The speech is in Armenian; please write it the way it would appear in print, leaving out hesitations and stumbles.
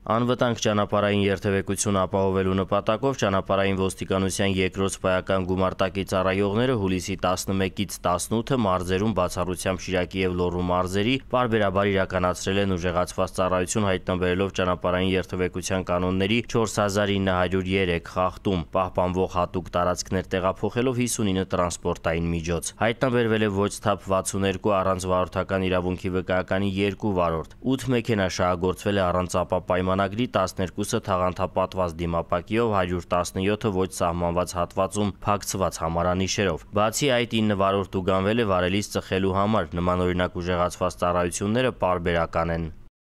Անվտանգ ճանապարհային երթևեկություն ապահովելու նպատակով ճանապարհային ոստիկանության երկրորդ սպայական գումարտակի ծառայողները հուլիսի 11-ից 18-ը մարզերում բացառությամբ Շիրակի և Լոռու մարզերի պարբերաբար իրականացրել են ուժեղացված ծառայություն հայտնաբերելով ճանապարհային երթևեկության կանոնների 4903 խախտում, պահպանվող հատուկ տարածքներ տեղափոխելով 59 տրանսպորտային միջոց։ Հայտնաբերվել է ոչ թափ 62 առանց վարորդական իրավունքի վկայականի 2 վարորդ, 8 մեքենա շահագործվել է առանց ապապայմանագրի, 12-ը թաղանթապատված դիմապակիով, 117-ը ոչ սահմանված հատվածում փակցված համարանիշերով։ Բացի այդ 9 վարորդ ուղղանվել է վարելիս ծխելու համար։ Նմանօրինակ ուժեղացված ծառայությունները պարբերական են։